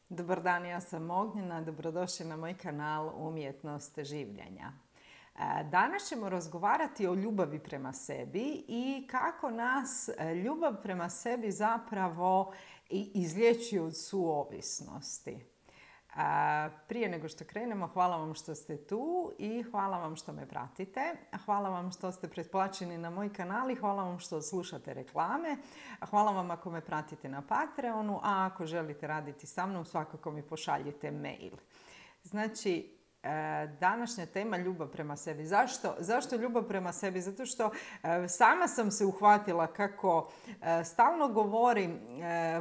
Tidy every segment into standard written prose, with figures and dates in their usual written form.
Dobar dan, ja sam Ognjena, dobrodošli na moj kanal Umjetnost življenja. Danas ćemo razgovarati o ljubavi prema sebi i kako nas ljubav prema sebi zapravo izliječuje od suovisnosti. Prije nego što krenemo, hvala vam što ste tu i hvala vam što me pratite. Hvala vam što ste pretplaćeni na moj kanal i hvala vam što slušate reklame. Hvala vam ako me pratite na Patreonu, a ako želite raditi sa mnom, svakako mi pošaljite mail. Znači, današnja tema ljubav prema sebi. Zašto ljubav prema sebi? Zato što sama sam se uhvatila kako stalno govorim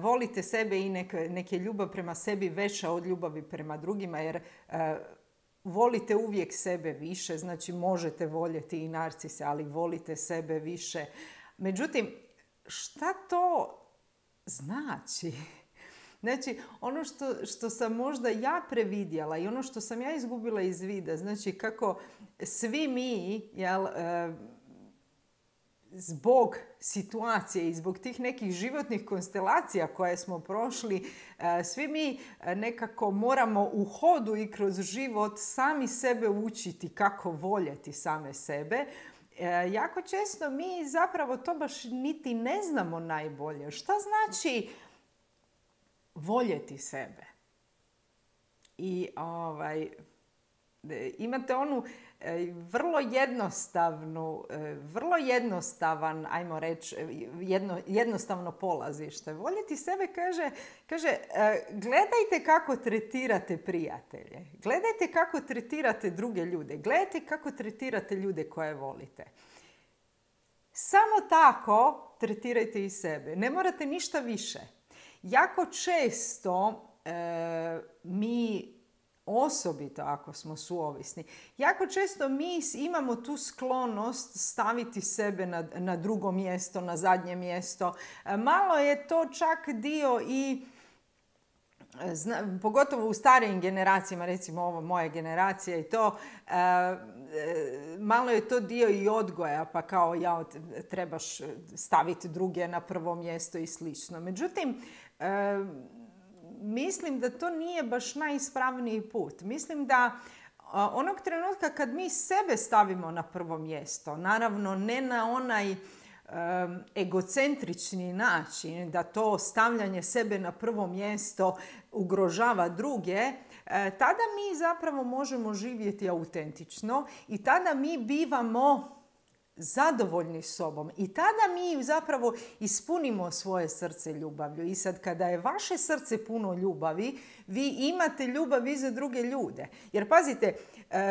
volite sebe i nek je ljubav prema sebi veća od ljubavi prema drugima, jer volite uvijek sebe više, znači možete voljeti i narcise, ali volite sebe više. Međutim, šta to znači? Znači, ono što sam možda ja previdjela i ono što sam ja izgubila iz vida, znači kako svi mi, zbog situacije i zbog tih nekih životnih konstelacija koje smo prošli, svi mi nekako moramo u hodu i kroz život sami sebe učiti kako voljeti same sebe. Jako često mi zapravo to baš niti ne znamo najbolje. Šta znači voljeti sebe? I imate onu vrlo jednostavan, ajmo reći, jednostavno polazište. Voljeti sebe kaže gledajte kako tretirate prijatelje, gledajte kako tretirate druge ljude, gledajte kako tretirate ljude koje volite. Samo tako tretirajte i sebe. Ne morate ništa više. Jako često mi, osobito ako smo suovisni, jako često mi imamo tu sklonost staviti sebe na drugo mjesto, na zadnje mjesto. Malo je to čak dio i pogotovo u starijim generacijama, recimo ovo moja generacija i to, malo je to dio i odgoja, pa kao trebaš staviti druge na prvo mjesto i slično. Međutim, mislim da to nije baš najispravniji put. Mislim da onog trenutka kad mi sebe stavimo na prvo mjesto, naravno ne na onaj egocentrični način da to stavljanje sebe na prvo mjesto ugrožava druge, tada mi zapravo možemo živjeti autentično i tada mi bivamo zadovoljni sobom i tada mi zapravo ispunimo svoje srce ljubavlju. I sad kada je vaše srce puno ljubavi, vi imate ljubav i za druge ljude. Jer pazite,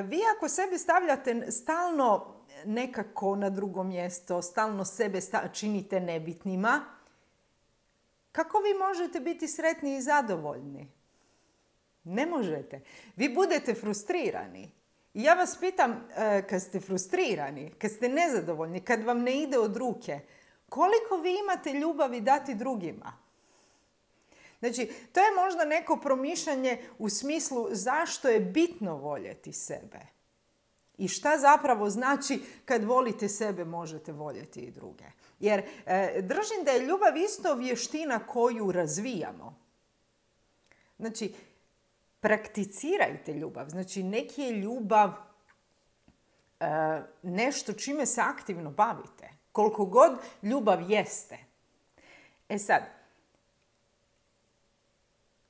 vi ako sebe stavljate stalno nekako na drugo mjesto, stalno sebe činite nebitnima, kako vi možete biti sretni i zadovoljni? Ne možete. Vi budete frustrirani. I ja vas pitam, kad ste frustrirani, kad ste nezadovoljni, kad vam ne ide od ruke, koliko vi imate ljubavi dati drugima? Znači, to je možda neko promišljanje u smislu zašto je bitno voljeti sebe. I šta zapravo znači kad volite sebe možete voljeti i druge. Jer držim da je ljubav isto vještina koju razvijamo. Znači, prakticirajte ljubav. Znači, neki je ljubav nešto čime se aktivno bavite. Koliko god ljubav jeste. E sad,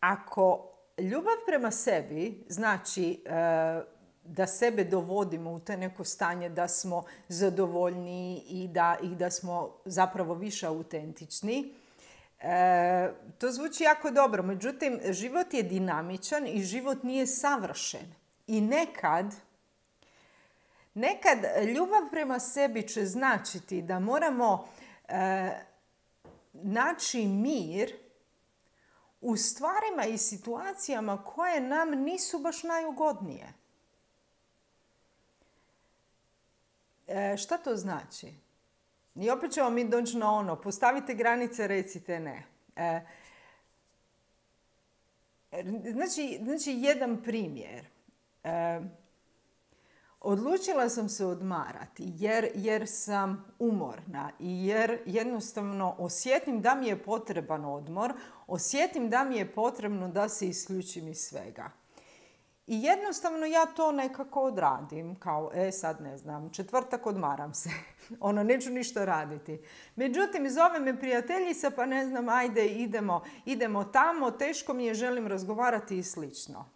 ako ljubav prema sebi znači da sebe dovodimo u to neko stanje da smo zadovoljni i da smo zapravo više autentični, to zvuči jako dobro. Međutim, život je dinamičan i život nije savršen. I nekad ljubav prema sebi će značiti da moramo naći mir u stvarima i situacijama koje nam nisu baš najugodnije. Šta to znači? I opet ćemo mi doći na ono, postavite granice, recite ne. Znači jedan primjer. Odlučila sam se odmarati jer sam umorna i jer jednostavno osjetim da mi je potreban odmor, osjetim da mi je potrebno da se isključim iz svega. I jednostavno ja to nekako odradim, kao sad ne znam, četvrtak odmaram se, neću ništa raditi. Međutim, zove me prijateljica pa ne znam, ajde idemo tamo, teško mi je, želim razgovarati i slično.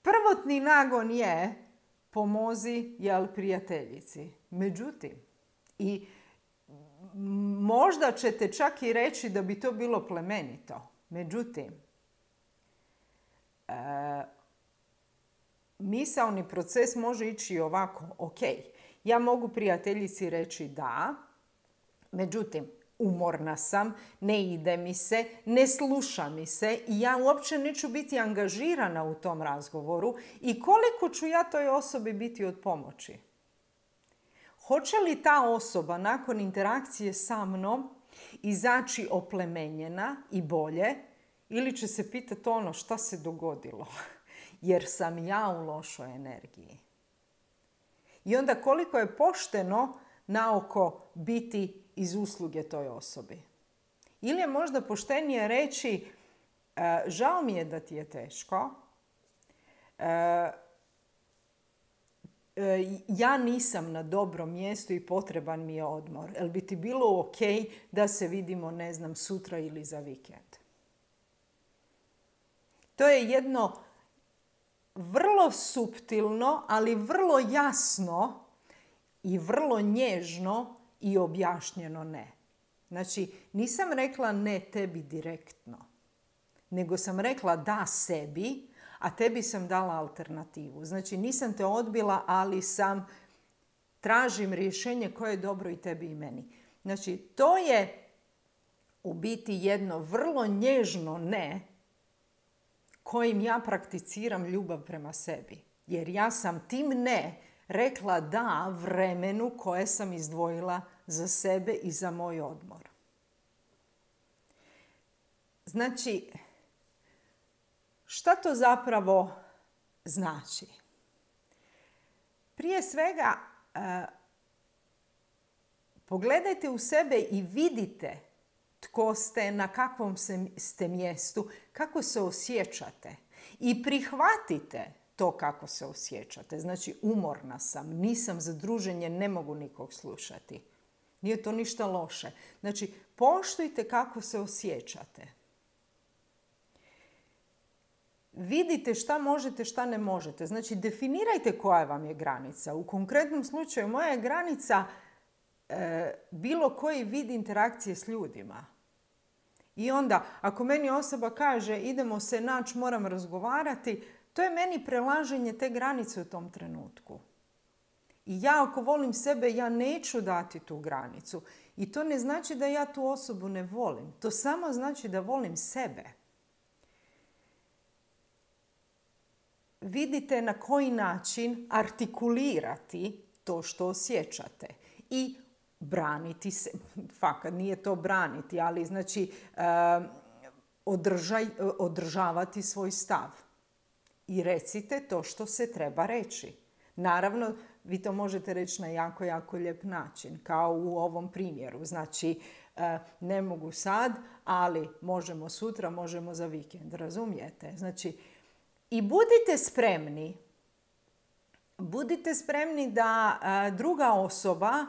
Prvotni nagon je pomozi prijateljici. Međutim, i možda ćete čak i reći da bi to bilo plemenito. Međutim, misaoni proces može ići ovako. Ok, ja mogu prijateljici reći da, međutim, umorna sam, ne ide mi se, ne sluša mi se i ja uopće neću biti angažirana u tom razgovoru i koliko ću ja toj osobi biti od pomoći. Hoće li ta osoba nakon interakcije sa mnom izaći oplemenjena i bolje ili će se pitati šta se dogodilo jer sam ja u lošoj energiji. I onda koliko je pošteno naoko biti iz usluge toj osobi. Ili je možda poštenije reći žao mi je da ti je teško, ja nisam na dobrom mjestu i potreban mi je odmor. Jel bi ti bilo ok da se vidimo, ne znam, sutra ili za vikend? To je jedno vrlo suptilno, ali vrlo jasno i vrlo nježno i objašnjeno ne. Znači, nisam rekla ne tebi direktno, nego sam rekla da sebi, a tebi sam dala alternativu. Znači, nisam te odbila, ali tražim rješenje koje je dobro i tebi i meni. Znači, to je u biti jedno vrlo nježno ne kojim ja prakticiram ljubav prema sebi. Jer ja sam tim ne rekla da vremenu koje sam izdvojila za sebe i za moj odmor. Znači, šta to zapravo znači? Prije svega, pogledajte u sebe i vidite tko ste, na kakvom ste mjestu, kako se osjećate. I prihvatite to kako se osjećate. Znači, umorna sam, nisam za druženje, ne mogu nikog slušati. Nije to ništa loše. Znači, poštujte kako se osjećate. Vidite šta možete, šta ne možete. Znači, definirajte koja vam je granica. U konkretnom slučaju, moja je granica bilo koji vid interakcije s ljudima. I onda, ako meni osoba kaže idemo se naći, moram razgovarati, to je meni prelaženje te granice u tom trenutku. I ja ako volim sebe, ja neću dati tu granicu. I to ne znači da ja tu osobu ne volim. To samo znači da volim sebe. Vidite na koji način artikulirati to što osjećate. I braniti se, fakat nije to braniti, ali znači održavati svoj stav. I recite to što se treba reći. Naravno, vi to možete reći na jako, jako lijep način, kao u ovom primjeru. Znači, ne mogu sad, ali možemo sutra, možemo za vikend, razumijete? Znači, i budite spremni da druga osoba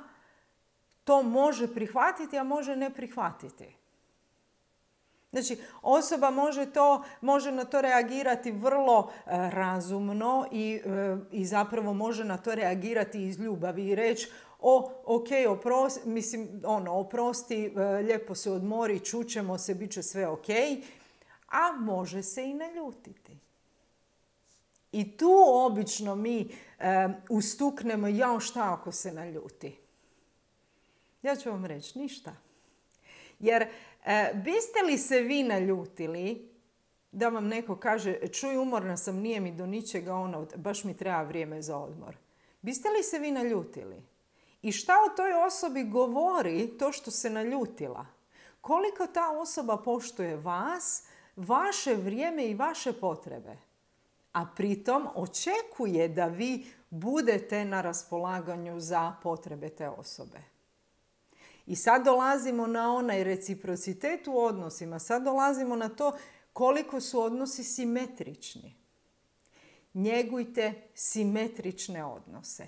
to može prihvatiti, a može ne prihvatiti. Znači, osoba može na to reagirati vrlo razumno i zapravo može na to reagirati iz ljubavi i reći oprosti, lijepo se odmori, čućemo se, bit će sve ok, a može se i naljutiti. I tu obično mi ustuknemo, jao šta ako se naljuti. Ja ću vam reći, ništa. Jer biste li se vi naljutili da vam neko kaže čuj, umorna sam, nije mi do ničega, baš mi treba vrijeme za odmor. Biste li se vi naljutili? I šta o toj osobi govori to što se naljutila? Koliko ta osoba poštuje vas, vaše vrijeme i vaše potrebe? a pritom očekuje da vi budete na raspolaganju za potrebe te osobe. I sad dolazimo na onaj reciprocitet u odnosima. Sad dolazimo na to koliko su odnosi simetrični. Njegujte simetrične odnose.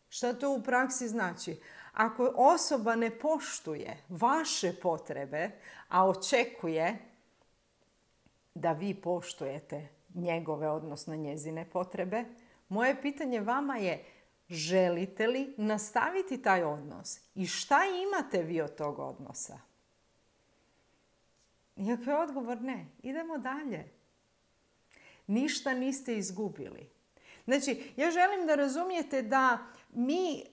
Šta to u praksi znači? Ako osoba ne poštuje vaše potrebe, a očekuje da vi poštujete njegove, odnosno njezine potrebe, moje pitanje vama je: želite li nastaviti taj odnos? I šta imate vi od tog odnosa? I ako je odgovor ne, idemo dalje. Ništa niste izgubili. Znači, ja želim da razumijete da mi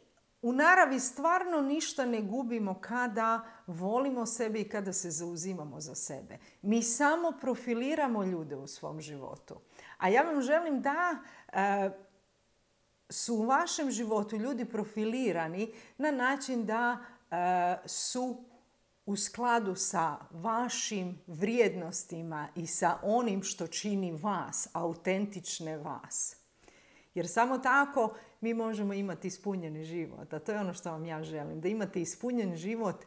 u naravi stvarno ništa ne gubimo kada volimo sebe i kada se zauzimamo za sebe. Mi samo profiliramo ljude u svom životu. A ja vam želim da su u vašem životu ljudi profilirani na način da su u skladu sa vašim vrijednostima i sa onim što čini vas, autentične vas. Jer samo tako mi možemo imati ispunjeni život. A to je ono što vam ja želim. Da imate ispunjen život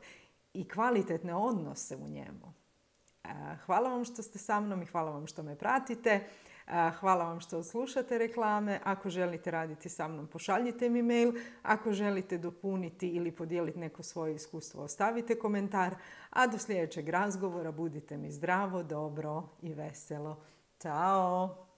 i kvalitetne odnose u njemu. Hvala vam što ste sa mnom i hvala vam što me pratite. Hvala vam što slušate reklame. Ako želite raditi sa mnom, pošaljite mi mail. Ako želite dopuniti ili podijeliti neko svoje iskustvo, ostavite komentar. A do sljedećeg razgovora budite mi zdravo, dobro i veselo. Ćao!